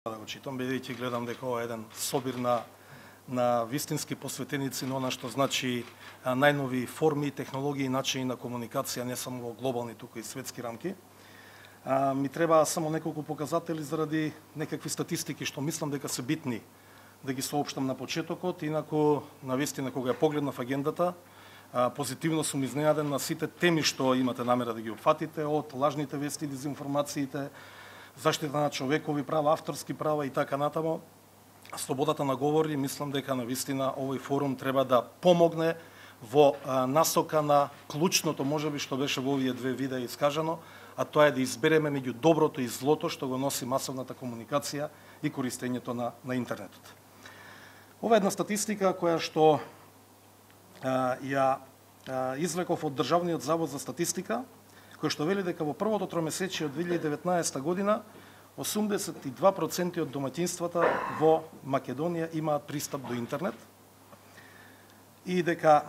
да го читам, бидејќи гледам дека ова е еден собир на вистински посветеници на она што значи најнови форми, технологии и начини на комуникација не само во глобални, туку и светски рамки. Ми треба само неколку показатели заради некакви статистики што мислам дека се битни да ги соопштам на почетокот, инаку навистина кога ја погледнав агендата, позитивно сум изненаден на сите теми што имате намера да ги опфатите, од лажните вести, дезинформациите, заштита на човекови права, авторски права и така натаму, слободата на говор, и мислам дека навистина овој форум треба да помогне во насока на клучното, можеби што беше во овие две видеа искажано, а тоа е да избереме меѓу доброто и злото што го носи масовната комуникација и користењето на интернетот. Ова е една статистика која што ја извлеков од Државниот завод за статистика, кој што вели дека во првото тромесечие од 2019 година 82% од домаќинствата во Македонија имаат пристап до интернет и дека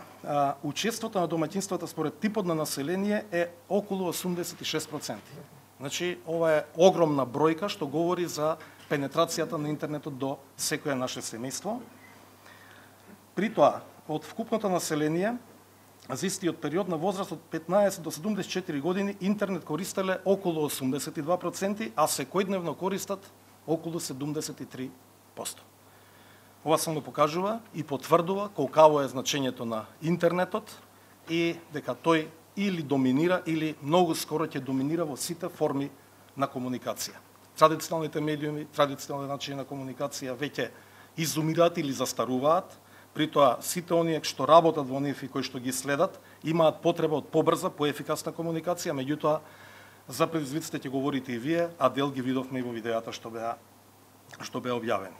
учеството на домаќинствата според типот на население е околу 86%. Значи, ова е огромна бројка што говори за пенетрацијата на интернетот до секое наше семејство. При тоа, од вкупното население, за истиот период на возраст од 15 до 74 години интернет користеле околу 82%, а секојдневно користат околу 73%. Ова само покажува и потврдува колкаво е значењето на интернетот и дека тој или доминира или многу скоро ќе доминира во сите форми на комуникација. Традиционалните медиуми, традиционални начини на комуникација веќе изумираат или застаруваат. При тоа, сите оние што работат во нив и кои што ги следат, имаат потреба од побрза, поефикасна комуникација, меѓутоа, за предизвиците ќе говорите и вие, а дел ги видовме и во видеата што беа објавени.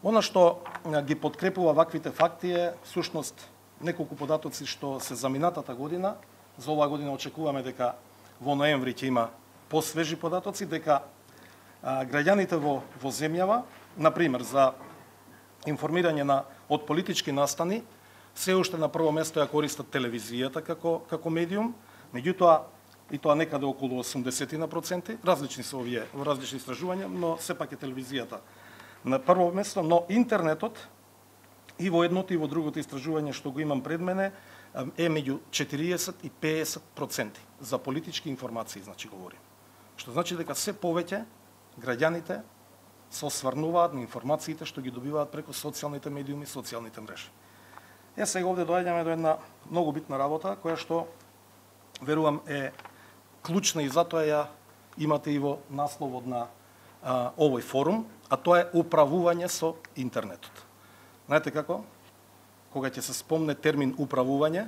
Она што ги подкрепува ваквите факти е, всушност, неколку податоци што се за минатата година. За оваа година очекуваме дека во ноември ќе има посвежи податоци, дека граѓаните во земјава, например, за информирање од политички настани, се уште на прво место ја користат телевизијата како медиум, меѓутоа и тоа некаде околу 80%, различни се овие во различни истражувања, но сепак е телевизијата на прво место, но интернетот и во едното и во другото истражување што го имам пред мене е меѓу 40 и 50% за политички информации, значи говорим. Што значи дека се повеќе граѓаните се осврнуваат на информациите што ги добиваат преку социјалните медиуми, социјалните мрежи. Сега овде доаѓаме до една многу битна работа, која што, верувам, е клучна и затоа ја имате и во насловот на овој форум, а тоа е управување со интернетот. Знаете како? Кога ќе се спомне термин управување,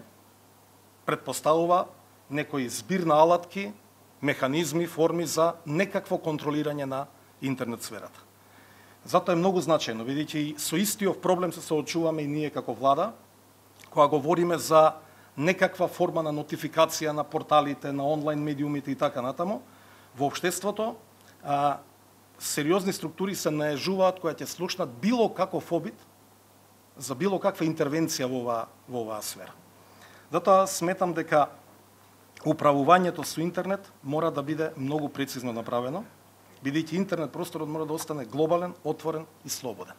предпоставува некој збир на алатки, механизми, форми за некакво контролирање на интернет сферата. Затоа е многу значајно, бидејќи со истиот проблем се соочуваме и ние како влада, кога говориме за некаква форма на нотификација на порталите, на онлайн медиумите и така натаму, во општеството сериозни структури се наежуваат која ќе слушнат било каков обид за било каква интервенција во оваа сфера. Затоа сметам дека управувањето со интернет мора да биде многу прецизно направено, бидејќи интернет просторот мора да остане глобален, отворен и слободен.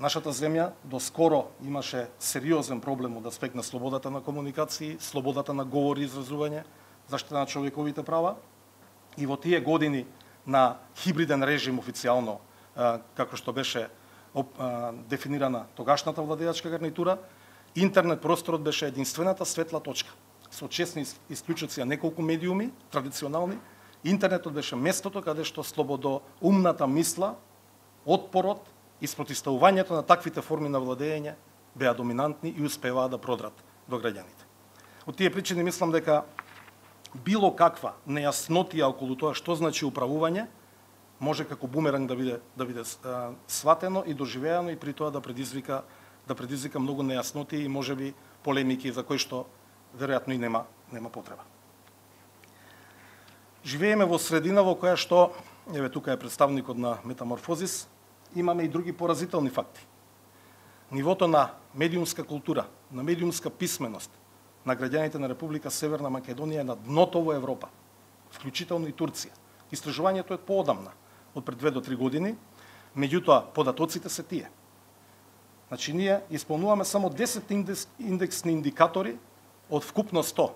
Нашата земја доскоро имаше сериозен проблем од аспект на слободата на комуникации, слободата на говор и изразување, заштита на човековите права, и во тие години на хибриден режим официјално, како што беше дефинирана тогашната владеачка гарнитура, интернет просторот беше единствената светла точка, со честни исклучоци на неколку медиуми, традиционални. Интернетот беше местото каде што слободоумната мисла, отпорот и спротивставувањето на таквите форми на владење беа доминантни и успеваа да продрат до граѓаните. Од тие причини мислам дека било каква нејаснотија околу тоа што значи управување може како бумеранг да биде сватено и доживеано и при тоа да предизвика многу нејаснотии и можеби полемики за кои што веројатно и нема потреба. Живееме во средина во која што, еве тука е представникот на Метаморфозис, имаме и други поразителни факти. Нивото на медиумска култура, на медиумска писменост на граѓаните на Република Северна Македонија е на дното во Европа, вклучително и Турција. Истражувањето е поодамна. од пред 2 до 3 години, меѓутоа податоците се тие. Значи ние исполнуваме само 10 индексни индикатори од вкупно 100.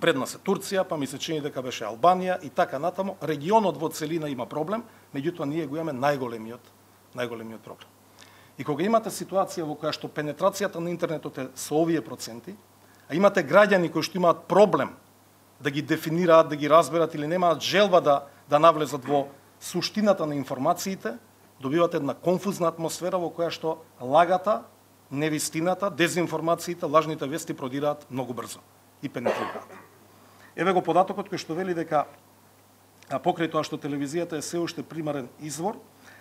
Пред нас е Турција, па ми се чини дека беше Албанија и така натаму. Регионот во целина има проблем, меѓутоа ние го имаме најголемиот проблем. И кога имате ситуација во која што пенетрацијата на интернетот е со овие проценти, а имате граѓани кои што имаат проблем да ги дефинираат, да ги разберат или немаат желба да навлезат во суштината на информациите, добивате една конфузна атмосфера во која што лагата, невистината, дезинформациите, лажните вести продираат многу брзо и пенетрираат. Еве го податокот кој што вели дека покрај тоа што телевизијата е се уште примарен извор,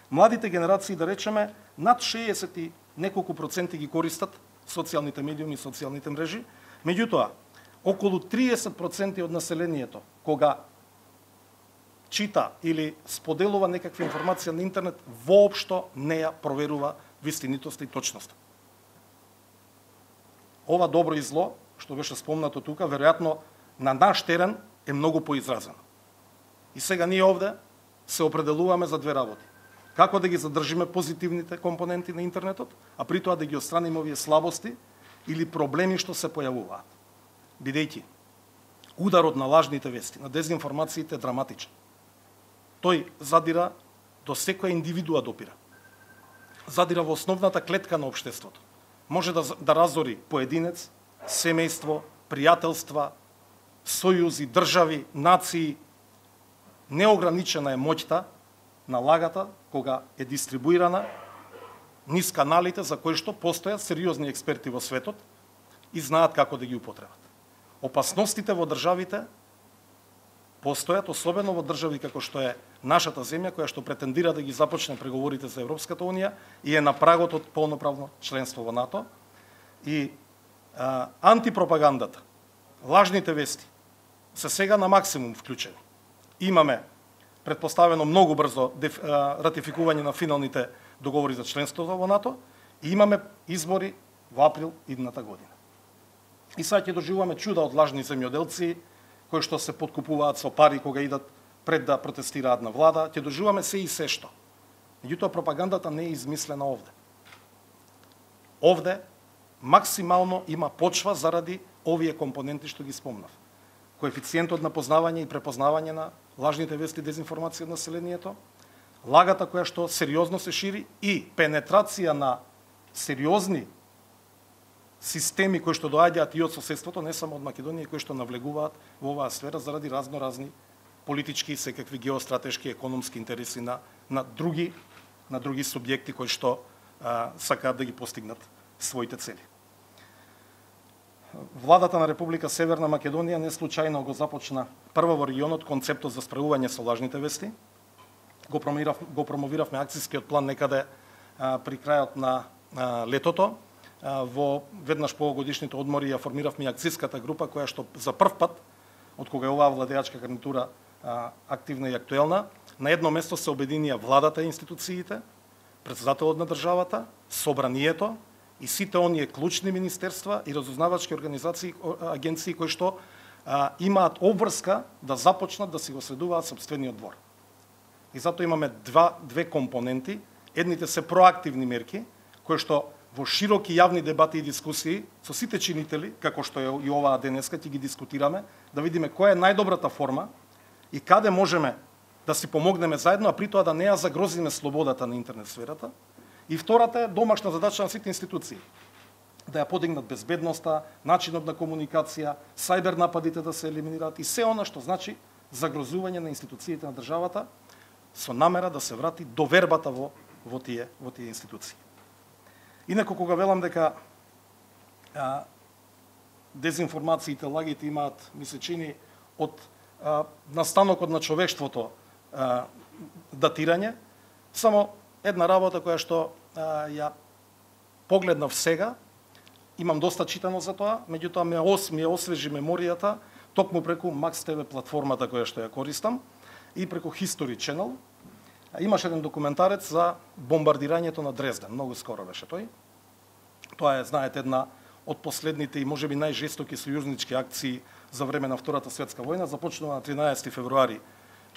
младите генерации, да речеме, над 60 и неколку проценти ги користат социјалните медиуми и социјалните мрежи, меѓутоа, околу 30% од населението, кога чита или споделува некаква информација на интернет, воопшто не ја проверува вистинитоста и точноста. Ова добро и зло, што беше спомнато тука, веројатно на наш терен е многу поизразено. И сега ние овде се определуваме за две работи. Како да ги задржиме позитивните компоненти на интернетот, а при тоа да ги отстраниме овие слабости или проблеми што се појавуваат. Бидејќи ударот на лажните вести, на дезинформациите е драматичен. Тој задира до секоја индивидуа допира. Задира во основната клетка на општеството. Може да разори поединец, семејство, пријателства, сојузи, држави, нации. Неограничена е моќта на лагата кога е дистрибуирана низ каналите за кои што постојат сериозни експерти во светот и знаат како да ги употребат. Опасностите во државите постојат, особено во држави како што е нашата земја, која што претендира да ги започне преговорите за Европската унија и е на прагот од полноправно членство во НАТО. И антипропагандата, лажните вести се сега на максимум вклучени. Имаме предпоставено многу брзо ратификување на финалните договори за членството во НАТО и имаме избори во април идната година. И сега ќе доживуваме чуда од лажни земјоделци кои што се подкупуваат со пари кога идат пред да протестираат на влада, ќе доживуваме се и се што. Меѓутоа пропагандата не е измислена овде. Овде максимално има почва заради овие компоненти што ги спомнав. Коефициентот на познавање и препознавање на лажните вести и дезинформација од населението, лагата која што сериозно се шири и пенетрација на сериозни системи кои што доаѓаат и од соседството, не само од Македонија, кои што навлегуваат во оваа сфера заради разни политички и секакви геостратешки, економски интереси на други субјекти кои што сакаат да ги постигнат своите цели. Владата на Република Северна Македонија не случајно го започна прво во регионот концептот за справување со лажните вести. Го промовиравме акцијскиот план некаде при крајот на летото. Во веднаш по годишните одмори ја формиравме акцијската група која што за прв пат од кога е оваа владеачка гарнитура активна и актуелна, на едно место се обединија владата и институциите, претседателот на државата, собранието и сите оние клучни министерства и разузнавачки организации, агенции кои што имаат обврска да започнат да си го следуваат сопствениот двор. И затоа имаме две компоненти. Едните се проактивни мерки, кои што во широки јавни дебати и дискусии со сите чинители, како што е и оваа денеска, ќе ги дискутираме, да видиме која е најдобрата форма и каде можеме да си помогнеме заедно, а при тоа да не ја загрозиме слободата на интернет сферата. И втората е домашна задача на сите институции. Да ја подигнат безбедноста, начинот на комуникација, сајбер нападите да се елиминираат и се она што значи загрозување на институциите на државата со намера да се врати довербата во тие институции. Инаку кога велам дека дезинформациите, лагите имаат, ми се чини, од настанокот на човештвото датирање, само една работа која што ја погледнав сега, имам доста читано за тоа, меѓутоа ми ја освежи меморијата токму преку Max TV платформата која што ја користам и преку History Channel. Имаше еден документарец за бомбардирањето на Дрезден, многу скоро беше тој. Тоа е, знаете, една од последните и можеби најжестоки сојузнички акции за време на Втората светска војна, започнува на 13 февруари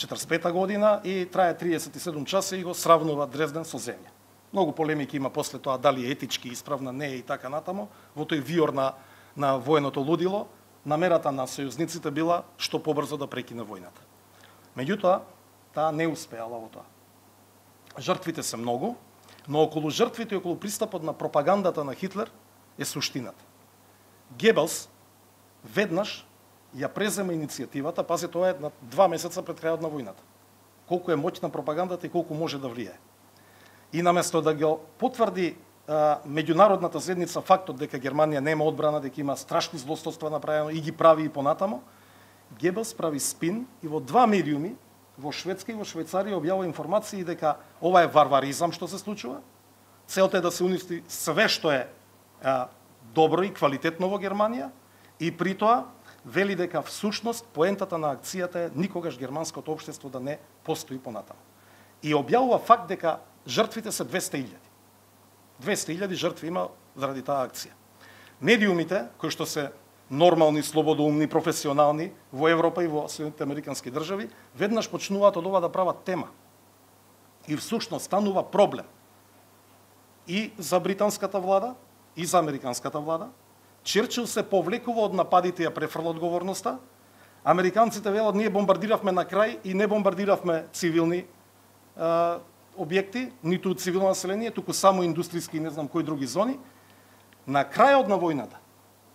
45 година и трае 37 часа и го сравнува Дрезден со земја. Многу полемики има после тоа дали е етички исправна, не е и така натаму. Во тој виор на военото лудило, намерата на сојузниците била што побрзо да прекине војната. Меѓутоа, таа не успеала во тоа. Жртвите се многу, но околу жртвите и околу пристапот на пропагандата на Хитлер е суштината. Гебелс веднаш ја презема иницијативата, пази, тоа е на 2 месеца пред крајот на војната. Колку е моќна пропагандата и колку може да влијае. И наместо да го потврди меѓународната заедница фактот дека Германија нема одбрана, дека има страшни злостоства направено и ги прави и понатамо, Гебелс прави спин и во 2 медиуми, во Шведска и во Швајцарија, објавува информации дека ова е варваризам што се случува. Целта е да се уништи све што е добро и квалитетно во Германија и при тоа вели дека всушност поентата на акцијата е никогаш германското општество да не постои понатаму. И објавува факт дека жртвите се 200.000. 200.000 жртви има заради таа акција. Медиумите, кои што се нормални, слободоумни, професионални во Европа и во Соединетите Американски држави, веднаш почнуваат од ова да прават тема. И всушност станува проблем и за британската влада, и за американската влада. Черчил се повлекува од нападите и ја префрла одговорноста. Американците велат, ние бомбардиравме на крај и не бомбардиравме цивилни објекти, ниту цивилно население, туку само индустријски и не знам кои други зони. На крајот на војната,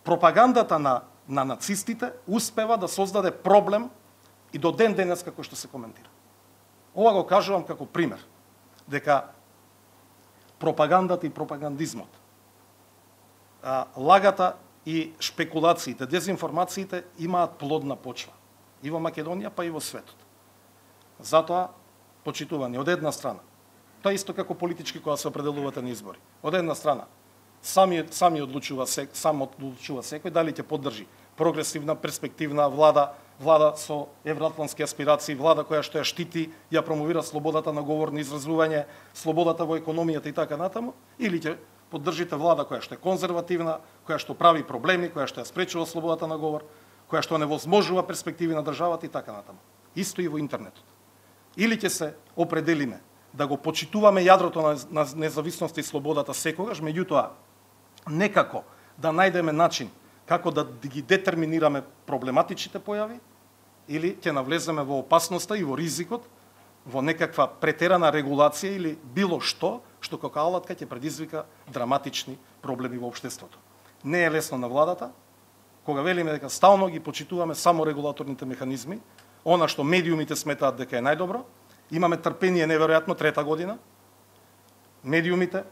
пропагандата на нацистите успева да создаде проблем и до ден денес како што се коментира. Ова го кажувам како пример, дека пропагандата и пропагандизмот, лагата и шпекулациите, дезинформациите имаат плодна почва и во Македонија, па и во светот. Затоа, почитувани, од една страна, тоа исто како политички кога се определувате на избори. Од една страна, сам одлучува секој дали ќе поддржи прогресивна, перспективна влада со евроатлантски аспирации, влада која што ја штити, ја промовира слободата на говор, на изразување, слободата во економијата и така натаму, или ќе поддржите влада која што е конзервативна, која што прави проблеми, која што ја спречува слободата на говор, која што невозможува перспективи на државата и така натаму. Исто и во интернетот. Или ќе се определиме да го почитуваме јадрото на независноста и слободата секогаш, меѓутоа некако да најдеме начин како да ги детерминираме проблематичните појави, или ќе навлеземе во опасноста и во ризикот, во некаква претерана регулација или било што како алатка ќе предизвика драматични проблеми во општеството. Не е лесно на владата, кога велиме дека стално ги почитуваме само регулаторните механизми, она што медиумите сметаат дека е најдобро, имаме трпение неверојатно 3-та година. Медиумите,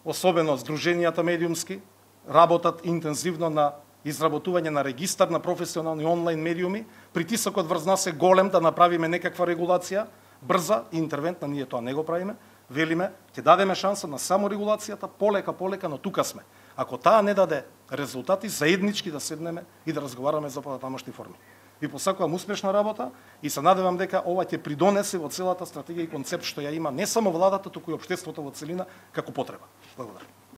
особено здруженијата медиумски, работат интензивно на изработување на регистар на професионални онлайн медиуми. Притисокот врз нас е голем да направиме некаква регулација, брза и интервентна, ние тоа не го правиме. Велиме, ќе дадеме шанса на саморегулацијата, полека, но тука сме. Ако таа не даде резултати, заеднички да седнеме и да разговараме за потамошни форми. Ви посакувам успешна работа и се надевам дека ова ќе придонесе во целата стратегија и концепт што ја има не само владата, туку и општеството во целина како потреба. Благодарам.